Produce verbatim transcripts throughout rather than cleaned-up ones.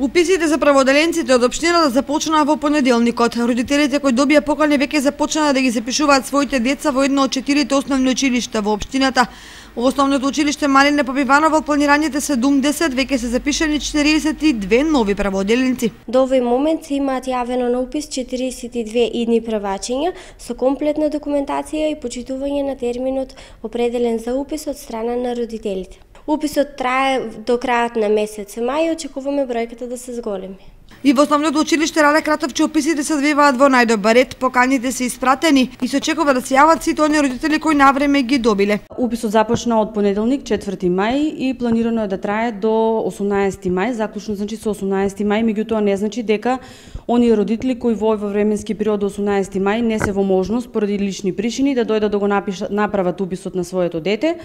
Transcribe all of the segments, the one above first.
Уписите за праводеленците од општината започнаа во понеделникот. Родителите кои добија покани веќе започнаа да ги запишуваат своите деца во едно од четирите основни училишта во општината. Во основното училиште Марине Попиванов во планираните седумдесет веќе се запишани четириесет и две нови праводеленци. До овој момент се имаат јавено на упис четириесет и две идни правачиња со комплетна документација и почитување на терминот определен за упис од страна на родителите. Уписот трае до крајот на месец мај и очекуваме бројката да се зголеми. И во основното училиште Раде Кратовче уписите се одвиваат во најдобар ред, поканите се испратени и се очекува да се јават сите оние родители кои навреме ги добиле. Уписот започна од понеделник четврти мај и планирано е да трае до осумнаесети мај, заклучно значи со осумнаесети мај, меѓутоа не значи дека оние родители кои во овој временски период до осумнаесети мај не се во можност поради лични причини да дојдат да го напишат, направат уписот на своето дете.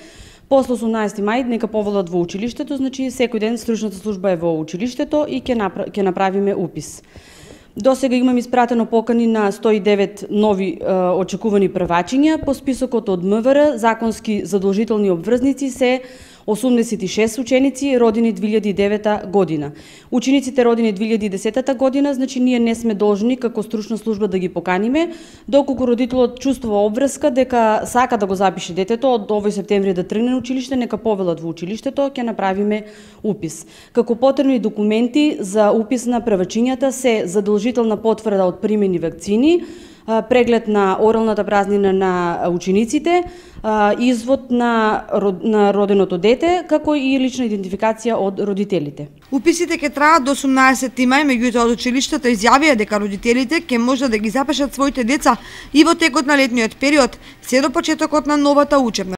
После осумнаесети мај нека поволат во училиштето, значи секој ден стручната служба е во училиштето и ќе направи, ќе направиме упис. До сега имам испратено покани на сто и девет нови е, очекувани првачиња. По списокот од МВР законски задолжителни обврзници се осумдесет и шест ученици родени две илјади и девета година. Учениците родени две илјади и десета година, значи ние не сме должни како стручна служба да ги поканиме, доколку родителот чувствува обврска дека сака да го запише детето од овој септември да тргне на училиште, нека повелат во училиштето, ќе направиме упис. Како потребни документи за упис на првачињата се задолжителна потврда од примени вакцини, преглед на оралната празнина на учениците, извод на, на роденото дете, како и лична идентификација од родителите. Уписите ќе траат до осумнаесети мај, меѓутоа од училиштата изјавија дека родителите ќе можат да ги запишат своите деца и во текот на летниот период, се до почетокот на новата учебна